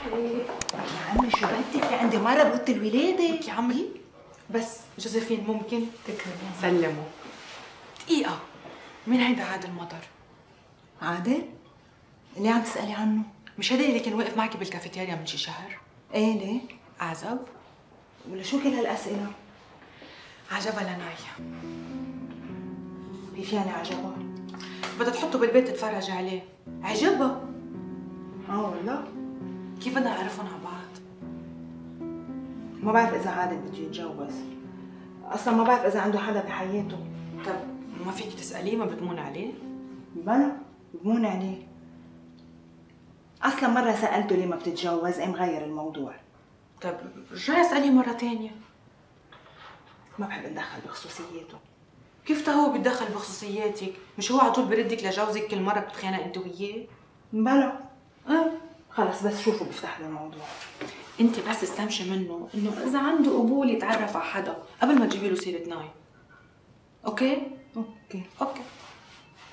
يا عمي شو بدك؟ في عندي مرة بوقت الولادة. يا عمي بس جوزيفين ممكن تكرمي سلموا دقيقة. مين هيدا عادل مطر؟ عادل؟ اللي عم تسألي عنه؟ مش هيدا اللي كان واقف معك بالكافيتيريا من شي شهر؟ ايه ليه؟ أعزب؟ ولا شو كل هالأسئلة؟ عجبها لناي. كيف يعني عجبها؟ بدها تحطه بالبيت تتفرج عليه. عجبها؟ والله؟ كيف بدنا نعرفهم على بعض؟ ما بعرف إذا عادل بده يتجوز. أصلاً ما بعرف إذا عنده حدا بحياته. طب ما فيك تسأليه؟ ما بتمون عليه؟ بلا بمون عليه. أصلاً مرة سألته ليه ما بتتجوز، قام غير الموضوع. طب رجعي اسأليه مرة تانية. ما بحب اتدخل بخصوصياته. كيف هو بيتدخل بخصوصياتك؟ مش هو على طول بردك لجوزك كل مرة بتتخانق انت وياه؟ بلا خلص بس شوفوا بيفتح له الموضوع. انت بس استمشي منه انه اذا عنده قبول يتعرف على حدا قبل ما تجيبي له سيرة ناي. اوكي؟ اوكي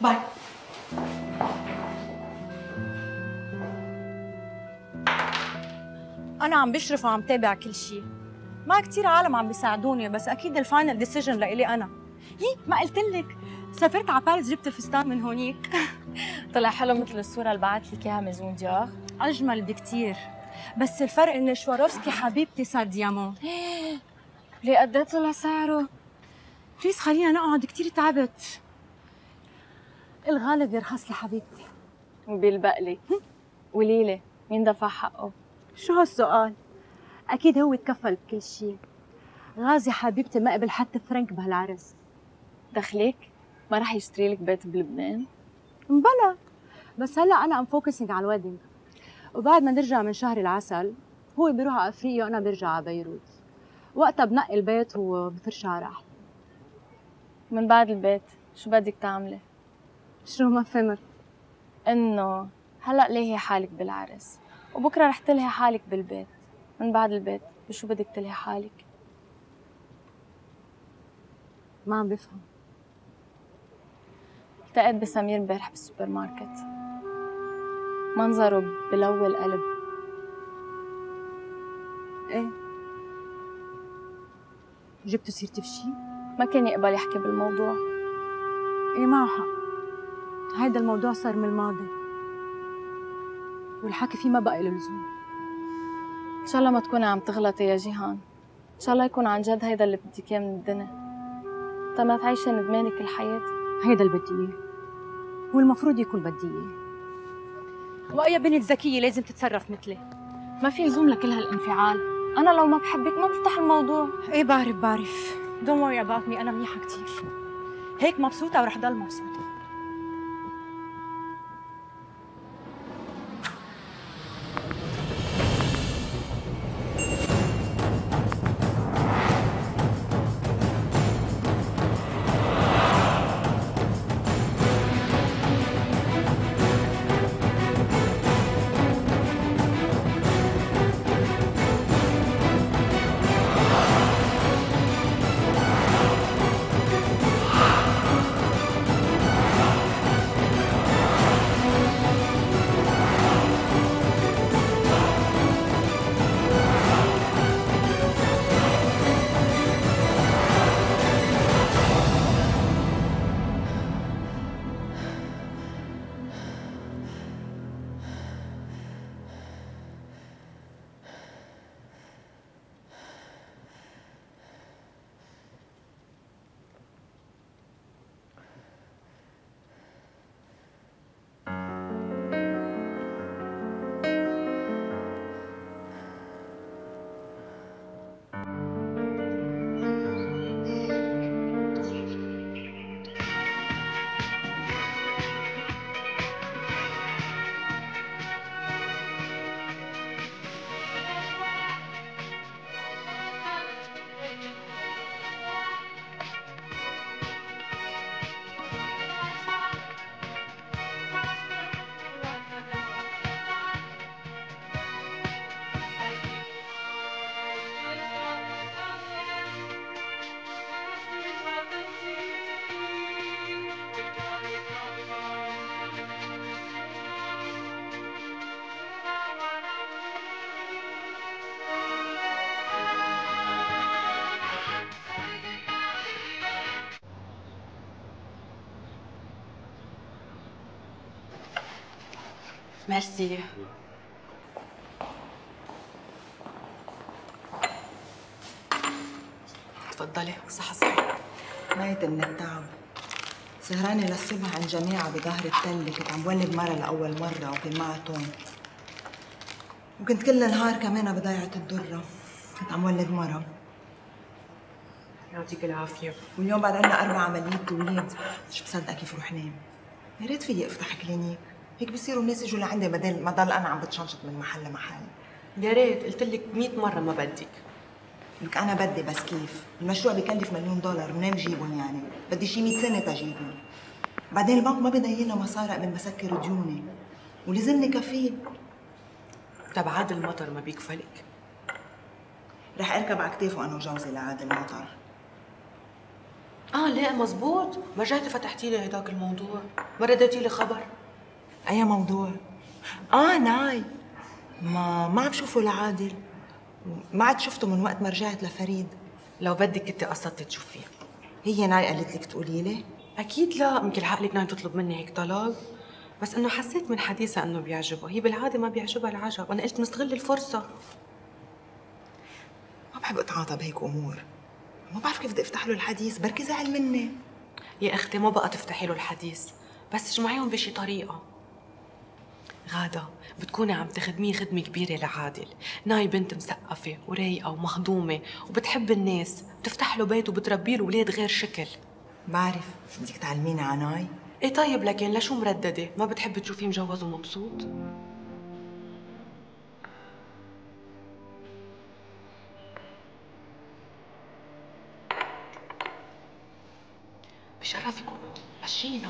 باي. أنا عم بشرف وعم تابع كل شيء. ما كتير عالم عم بيساعدوني، بس أكيد الفاينل ديسيجن لإلي أنا. ما قلت لك سافرت على باريس جبت الفستان من هونيك. طلع حلو مثل الصورة اللي بعت لك إياها ميزون ديور. أجمل بكتير، بس الفرق إن شواروفسكي حبيبتي صار ديامون. ليه قد ايه طلع سعره؟ بليز خلينا نقعد، كتير تعبت. الغالب يرخص لي حبيبتي. وبيلبقلي. قوليلي مين دفع حقه؟ شو هالسؤال؟ أكيد هو تكفل بكل شيء. غازي حبيبتي ما قبل حتى فرنك بهالعرس. دخلك؟ ما رح يشتري لك بيت بلبنان؟ بلا، بس هلا أنا فوكسينج على الويدنج، وبعد ما نرجع من شهر العسل هو بيروح على أفريقيا وأنا برجع على بيروت. وقتها بنقي البيت وبفرش على راحتي. من بعد البيت شو بدك تعملي؟ شو ما فهمت؟ إنه هلا ليهي حالك بالعرس وبكره رح تلهي حالك بالبيت. من بعد البيت بشو بدك تلهي حالك؟ ما عم بفهم. التقيت بسمير امبارح بالسوبر ماركت، منظره بلوي القلب. ايه جبتوا سيرتي بشي؟ ما كان يقبل يحكي بالموضوع. ايه معه حق، هيدا الموضوع صار من الماضي والحكي فيه ما بقى له لزوم. ان شاء الله ما تكوني عم تغلطي يا جيهان، ان شاء الله يكون عن جد هيدا اللي بدك اياه من الدنيا، تا ما تعيشي ندمانة كل حياتك. هيدا اللي بدي اياه، والمفروض يكون بدي اياه. واي بنت ذكيه لازم تتصرف مثلي. ما في لزوم لكل هالانفعال، انا لو ما بحبك ما بفتح الموضوع. ايه بعرف don't worry about me، انا منيحه كتير، هيك مبسوطه ورح ضل مبسوطه. ميرسي. تفضلي. صحة صحة. ميت من التعب، سهرانة للصبح عند جماعة بظهر التلة. كنت عم ولد مرة لأول مرة وكان معها توم، وكنت كل النهار كمان بضيعة الدرة. كنت عم ولد مرة. يعطيك العافية. واليوم بعد عنا 4 عمليات توليد. مش مصدقة كيف روح نام. يا ريت فيي افتح كلينيك، هيك بصيروا الناس يجوا لعندي بدل ما ضل انا عم بتشنشط من محل لمحل. يا ريت، قلت لك 100 مرة ما بدك. لك انا بدي، بس كيف؟ المشروع بكلف $1,000,000، منين بجيبهم يعني؟ بدي شي 100 سنة تجيبهم. بعدين البنك ما بيضيلنا مصاري قبل ما سكر ديوني، ولازمني كفيل. تبع عاد المطر ما بيكفلك. رح اركب على كتافه انا وجوزي لعاد المطر. لا مزبوط، ما رجعتي فتحتي لي هداك الموضوع، ما رديتي لي خبر. اي موضوع؟ ناي، ما عم شوفه لعادل، ما عاد شفته من وقت ما رجعت لفريد. لو بدك كنتي قصدتي تشوفيه. هي ناي قالت لك تقولي لي؟ اكيد لا، يمكن عقلك ناي تطلب مني هيك طلب، بس انه حسيت من حديثها انه بيعجبه. هي بالعاده ما بيعجبها العجب، وانا قلت نستغل الفرصه. ما بحب اتعاطى بهيك امور، ما بعرف كيف بدي افتح له الحديث، بركي زعل مني. يا اختي ما بقى تفتحي له الحديث، بس تجمعيهم بشي طريقه. غادة بتكوني عم تخدميه خدمة كبيرة لعادل. ناي بنت مثقفة ورايقة ومهضومة وبتحب الناس، بتفتح له بيت وبتربي له ولاد غير شكل. بعرف، بدك تعلميني على ناي؟ ايه طيب، لكن لشو مرددة؟ ما بتحبي تشوفيه مجوز ومبسوط؟ بشرفكم مشينا.